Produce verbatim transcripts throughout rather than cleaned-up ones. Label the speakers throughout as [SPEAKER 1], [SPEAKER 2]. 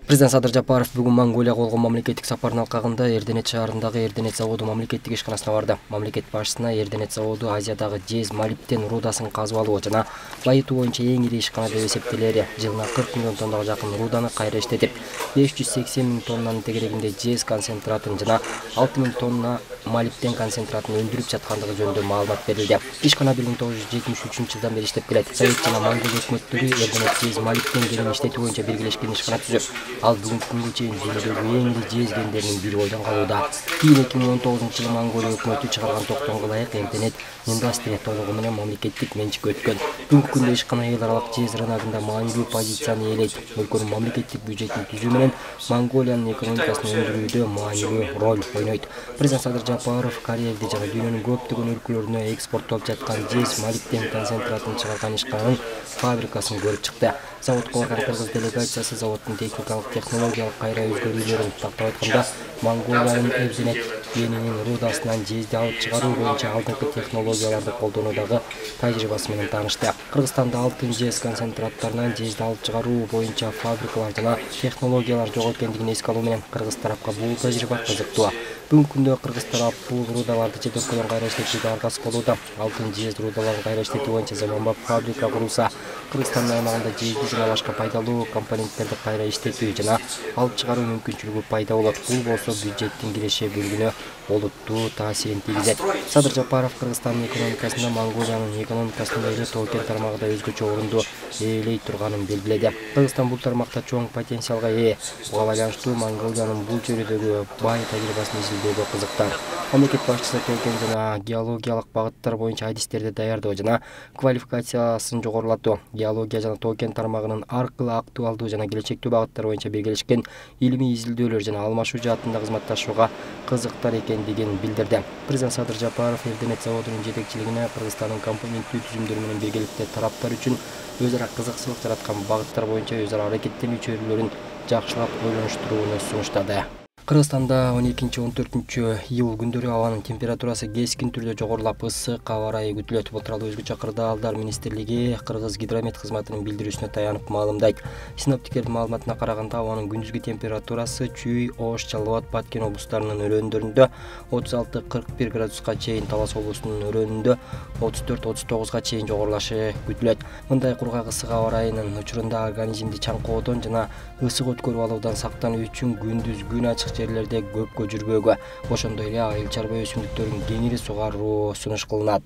[SPEAKER 1] Президент Садыр Жапаров бүгүн Монголияга болгон мамлекеттик сапарынын алкагында Эрденет шаарындагы Эрденет заводу мамлекеттик ишканасына барды. Мамлекет башчысына Эрденет заводу Азиядагы жез молибден рудасын казып алуу жана байытуу боюнча эң ири ишкана деп эсептелери. Жылына кырк миллион тоннага жакын руданы кайра иштетип, беш жүз сексен миң тоннанын тегерегинде жез концентратын жана алты миң тонна молибден концентратын өндүрүп жаткандыгы жөнүндө маалымат берилди. Ишкана бир миң тогуз жүз жетимиш үчүнчү жылдан бери иштеп келет. Совет жана Монгол өкмөттөрү Эрденет жез молибден кенин иштетүү боюнча биргелешкен ишкана түзүп, ал бүгүнкү күнгө чейин дүйнөдөгү эң ири жез кендеринин бири бойдон калууда. Кийин эки миң он тогузунчу жылы Монголия өкмөтү чыгарган токтомго ылайык Эрденет индустрия толугу менен мамлекеттик менчикке өткөн. Бүгүнкү күндө ишкана эл аралык жез рыногунда маанилүү позицияны ээлейт. Өлкөнүн мамлекеттик бюджетин түзүү менен Монголиянын экономикасын өндүрүүдө маанилүү роль ойнойт. Президент Садыр Жапаров Кореяда жана дүйнөнүн көптөгөн өлкөлөрүнө экспорттолуп жаткан жез молибден концентратын чыгарган ишкананын фабрикасын көрүп чыкты. Заводко барган кыргыз делегациясы заводдун техникалык технологиялык кайра өзгөрүүлөрүн тактап айтканда, Монголиянын Эрденет кенинин рудасынан жезди алып чыгаруу боюнча алдыңкы технологияларды колдонуудагы тажрыйбасы менен таанышты. Кыргызстанда алтын жез концентраттарынан жезди алып чыгаруу боюнча фабрикалар жана технологиялар жок экендигин эске алуу менен кыргыз тарапка бул тажрыйба кызыктуу. Бүгүнкү күндө кыргыз тарап бул рудаларды чет өлкөдөн кайра иштетүүгө аргасыз болууда. Алтын жез рудаларын кайра иштетүү боюнча заманбап фабрика курулса, Кыргызстандын аймагында жезди жана башка пайдалуу компоненттерди кайра иштетүү жана алып чыгаруу мүмкүнчүлүгү пайда болот. Бул болсо бюджеттин киреше бөлүгүнө олуттуу таасирин тийгизет. Садыр Жапаров Кыргызстандын экономикасында Монголиянын экономикасында эле тоо-кен тармагында өзгөчө орунду ээлей турганын белгиледи. Кыргызстан бул тармакта чоң потенциалга ээ. Буга байланыштуу Монголиянын бул чөйрөдөгү бай тажрыйбасын изилдөөгө кызыктар. Мамлекет башчысы тоо-кен жана геологиялык багыттар боюнча адистерди даярдоо жана квалификациясын жогорулатуу, геология жана тоо-кен тармагынын аркылуу актуалдуу жана келечектүү багыттар боюнча белгилешкен илимий изилдөөлөр жана алмашуу жаатында кызматташууга кызыктар экендигин билдирди. Президент Садыр Жапаров Эрденет заводунун жетекчилигине Кыргызстандын компоненттүү түзүмдөрү менен биргеликте тараптар үчүн өз ара кызыкчылык жараткан багыттар боюнча өз ара аракеттенүү чөйрөлөрүн жакшылап ойлонуштурууну сунуштады. Кыргызстанда он экинчи он төртүнчү июль күндөрү абанын температурасы кескин түрдө жогорулап, ысык аба ырайы күтүлөт. Бул тууралуу өзгөчө Кырдаалдар министрлиги Кыргыз гидромет кызматынын билдирүүсүнө таянып маалымдайт. Синоптиктердин маалыматына караганда, абанын күндүзгү температурасы Чүй, Ош, Жалал Абад, Баткен облустарынын өрөөндарында отуз алты кырк бир градуска чейин, Талас облусунун өрөөнүндө отуз төрт отуз тогузга чейин жогорулашы күтүлөт. Мындай кургак ысык аба ырайынын учурунда организмди чаңкоодон жана ысык өткөрүп алуудан сактануу үчүн күндүз күн ачык жерлерде көпкө жүрбөөгө, ошондой эле айыл чарба өсүмдүктөрүн кеңири сугаруу сунуш кылынат.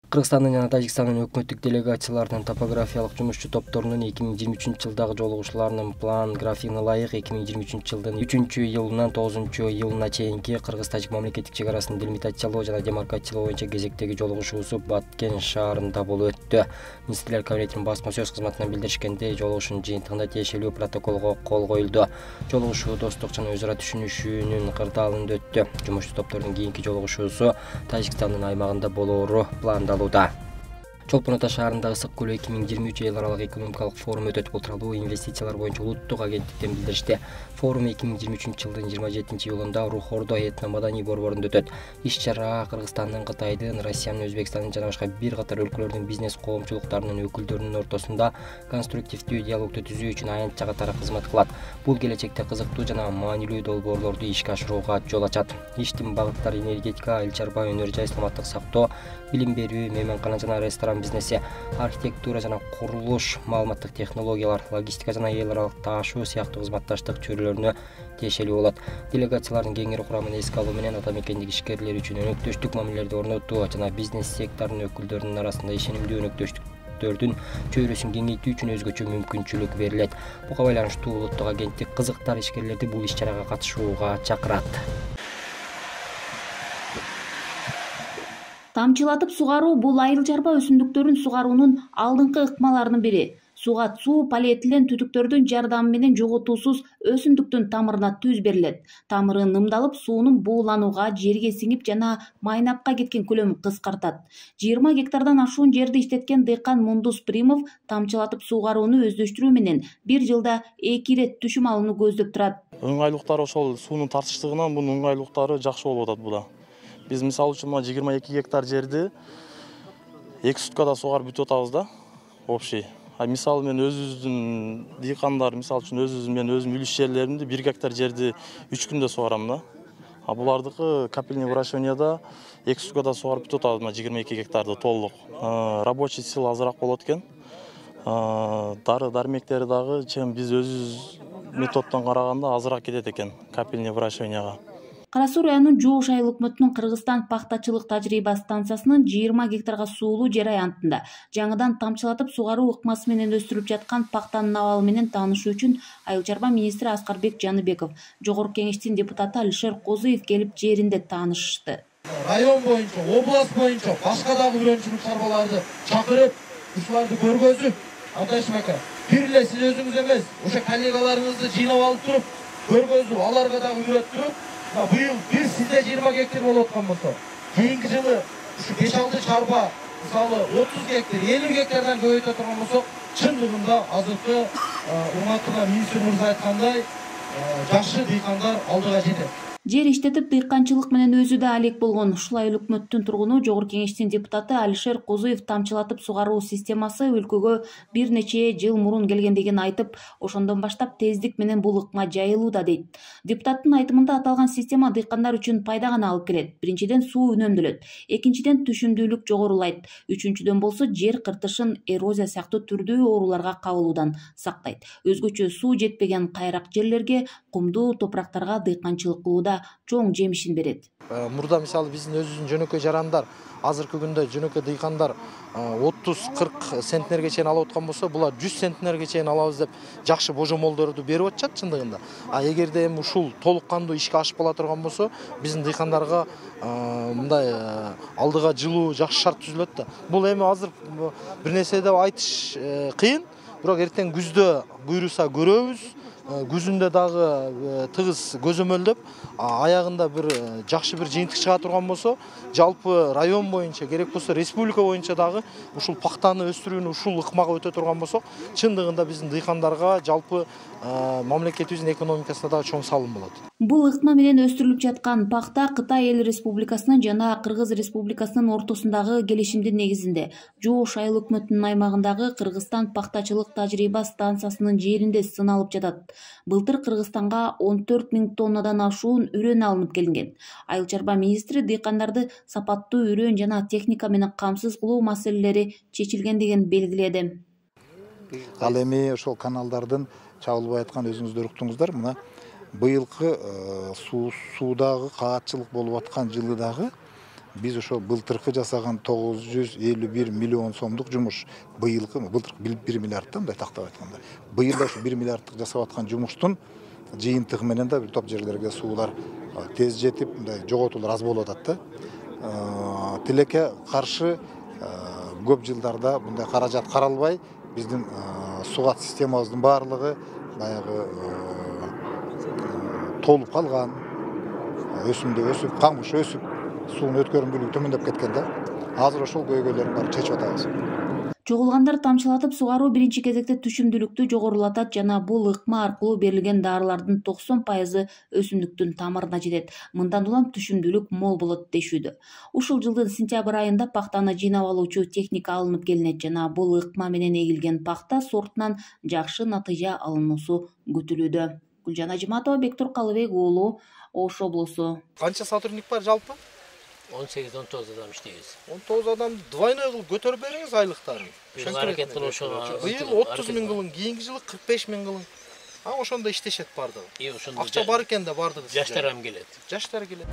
[SPEAKER 1] Кыргызстандын жана Тажикстандын өкмөттүк делегацияларынын топографиялык жумушчу топторунун эки миң жыйырма үчүнчү жылдагы жолугушууларынын план графигине ылайык эки миң жыйырма үчүнчү жылдын үчүнчү июлунан тогузунчу июлуна чейинки Кыргыз-Тажик мамлекеттик чек арасын делимитациялоо жана демаркациялоо боюнча кезектеги жолугушуусу Баткен шаарында болуп өттү. Министрлер кабинетинин басма сөз кызматынан билдиришкендей, жолугушуунун жыйынтыгында тиешелүү протоколго кол коюлду. Жолугушуу достук жана өз ара түшүнүшүүнүн кырдаалында өттү. Жумушчу топтордун кийинки жолугушуусу Тажикстандын аймагында болоору пландалууда. Чолпон Ата шаарында ысык көлөө эки миң жыйырма үч эл аралык экономикалык форум өтөт. Бул тууралуу инвестициялар боюнча улуттук агенттиктен билдиришти. Форум эки миң жыйырма үчүнчү жылдын жыйырма жетинчи июлунда Рух-Ордо этно-маданий борборунда өтөт. Иш-чара Кыргызстандын, Кытайдын, Россиянын, Өзбекстандын жана башка бир катар өлкөлөрдүн бизнес коомчулуктарынын өкүлдөрүнүн ортосунда конструктивдүү диалогду түзүү үчүн аянт жагатары кызмат кылат. Бул келечекте кызыктуу жана маанилүү долбоорлорду ишке ашырууга жол ачат. Иштин багыттары энергетика, айыл чарба, өнөр жай, саламаттык сактоо, билим берүү, мейманкана жана ресторан бизнеси, архитектура жана курулуш, маалыматтык технологиялар, логистика жана эл аралык таашуу сыяктуу кызматташтык чөйрөлөрүнө тиешелүү болот. Делегациялардын кеңири курамын эске алуу менен ата мекендик ишкерлер үчүн өнөктөштүк мамилелерди орнотуу жана бизнес секторунун өкүлдөрүнүн арасында ишенимдүү өнөктөштүктөрдүн чөйрөсүн кеңейтүү үчүн өзгөчө мүмкүнчүлүк берилет. Буга байланыштуу улуттук агенттик кызыктар ишкерлерди бул иш-чарага катышууга чакырат.
[SPEAKER 2] Тамчылатып сугаруу бул айыл чарба өсүмдүктөрүн сугаруунун алдыңкы ыкмаларынын бири. Суга суу полиэтилен түтүктөрдүн жардамы менен жоготуусуз өсүмдүктүн тамырына түз берилет. Тамыры нымдалып, суунун бууланууга, жерге сиңип жана майнапка кеткен көлөмү кыскартат. жыйырма гектардан ашуун жерди иштеткен дыйкан Мундус Примов тамчылатып сугарууну өздөштүрүү менен бир жылда эки ирет түшүм алууну көздөп турат.
[SPEAKER 3] Ыңгайлыктары ошол суунун тартыштыгынан бунун ыңгайлыктары жакшы болуп атат буда. Биз мисалы үчүн жыйырма эки гектар жерди эки суткада сугарып бүтүп атабыз да, общий. Мисалы мен өзүбүздүн дыйкандар, мисалы үчүн өзүбүздүн мен өзүм үлүш жерлеримди бир гектар жерди үч күндө сугарам да. А булардыкы капельный выращиванияда эки суткада сугарып бүтүп атат, жыйырма эки гектарды толук. Рабочий сила азыраак болот экен. Дары дармектери дагы чем биз өзүбүз методдон караганда азыраак кетет экен капельный выращиванияга.
[SPEAKER 2] Кара Суу районунун Жууш айыл өкмөтүнүн Кыргызстан пахтачылык тажрыйба станциясынын жыйырма гектарга суулуу жер аянтында жаңыдан тамчылатып сугаруу ыкмасы менен өстүрүлүп жаткан пахтанын абалы менен таанышуу үчүн айыл чарба министри Аскарбек Жаныбеков, Жогорку Кеңештин депутаты Алишер Козуев келип жеринде таанышышты.
[SPEAKER 4] Район боюнча, область боюнча башка дагы үрөнчүлүк чарбаларды чакырып, ушуларды көргөзүп, Атайшым ака, бир эле сиз өзүңүз эмес, ошо коллегаларыңызды жыйнап алып туруп, көргөзүп, аларга дагы үйрөттүрүп, быйыл бир сизде жыйырма гектар болуп аткан болсо, кийинки жылы ушу беш алты чарба, мисалы отуз гектар, элүү гектардан көбөйтө турган болсок, чындыгында азыркы урматтуу министр мырза айткандай, жакшы дыйкандар алдыга жетет.
[SPEAKER 2] Жер иштетип дыйканчылык менен өзү да алек болгон ушул айыл өкмөттүн тургуну Жогорку Кеңештин депутаты Алишер Козуев тамчылатып сугаруу системасы өлкөгө бир нече жыл мурун келгендигин айтып, ошондон баштап тездик менен бул ыкма жайылууда дейт. Депутаттын айтымында аталган система дыйкандар үчүн пайда гана алып келет. Биринчиден суу үнөмдөлөт, экинчиден түшүмдүүлүк жогорулайт, үчүнчүдөн болсо жер кыртышын, эрозия сыяктуу түрдүү ооруларга кабылуудан сактайт. Өзгөчө суу жетпеген кайрак жерлерге, кумдуу топурактарга дыйканчылык кылууда чоң жемишин берет.
[SPEAKER 5] Мурда мисалы биздин өзүбүздүн жөнөкөй жарандар, азыркы күндө жөнөкөй дыйкандар отуз кырк центнерге чейин алып аткан болсо, булар жүз центнерге чейин алабыз деп жакшы божомолдорду берип атышат чындыгында. А эгерде эми ушул толук кандуу ишке ашып кала турган болсо, биздин дыйкандарга мындай алдыга жылуу жакшы шарт түзүлөт да. Бул эми азыр бир нерсе деп айтыш кыйын, бирок эртең күздө буйруса көрөбүз. Күзүндө дагы тыгыз көзөмөлдөп, аягында бир жакшы бир жыйынтык чыга турган болсо, жалпы район боюнча, керек болсо республика боюнча дагы ушул пахтаны өстүрүүнү ушул ыкмага өтө турган болсок, чындыгында биздин дыйкандарга, жалпы мамлекетибиздин экономикасына дагы чоң салым болот.
[SPEAKER 2] Бул ыкма менен өстүрүлүп жаткан пахта Кытай Эл Республикасынын жана Кыргыз Республикасынын ортосундагы келишимдин негизинде Жууш айыл өкмөтүнүн аймагындагы Кыргызстан пахтачылык тажрыйба станциясынын жеринде сыналып жатат. Былтыр Кыргызстанга он төрт миң тоннадан ашуун үрөн алынып келинген. Айыл чарба министри дыйкандарды сапаттуу үрөн жана техника менен камсыз кылуу маселелери чечилгендигин белгиледи.
[SPEAKER 6] Ал эми ошол каналдардын чабылбай аткан өзүңүздөр уктуңуздар, мына быйылкы суудагы каатчылык болуп аткан жылы дагы биз ошо былтыркы жасаган тогуз жүз элүү бир миллион сомдук жумуш, быйылкы былтыркы бир миллиардтан мындай тактап айтканда, быйыл да ушу бир миллиардтык жасап аткан жумуштун жыйынтыгы менен да бир топ жерлерге суулар тез жетип, мындай жоготуулар аз болуп атат да. Тилекке каршы көп жылдарда мындай каражат каралбай, биздин сугат системабыздын баардыгы баягы толуп калган, өсүмдө өсүп, камыш өсүп, суунун өткөрүмдүүлүгү төмөндөп кеткен да. Азыр ошол көйгөйлөрдүн баарын чечип атабыз.
[SPEAKER 2] Чогулгандар тамчылатып сугаруу биринчи кезекте түшүмдүүлүктү жогорулатат жана бул ыкма аркылуу берилген дарылардын токсон пайызы өсүмдүктүн тамырына жетет. Мындан улам түшүмдүүлүк мол болот дешүүдө. Ушул жылдын сентябрь айында пахтаны жыйнап алуучу техника алынып келинет жана бул ыкма менен эгилген пахта сортунан жакшы натыйжа алынуусу күтүлүүдө. Гүлжан Ажыматова, Бектур Калыбек уулу, Ош облусу.
[SPEAKER 5] Канча сотрудник бар жалпы?
[SPEAKER 7] он сегиз он тогуз адам иштейбиз.
[SPEAKER 5] он тогуз адам двойной кылып көтөрүп бериңиз айлыктарын.
[SPEAKER 7] Быйыл аракет кылып ошого.
[SPEAKER 5] Быйыл отуз миң кылың, кийинки жылы кырк беш миң кылың. А ошондо иштешет бардыгы.
[SPEAKER 7] И ошондо
[SPEAKER 5] акча бар экен да бардыгы.
[SPEAKER 7] Жаштар ам келет.
[SPEAKER 5] Жаштар келет.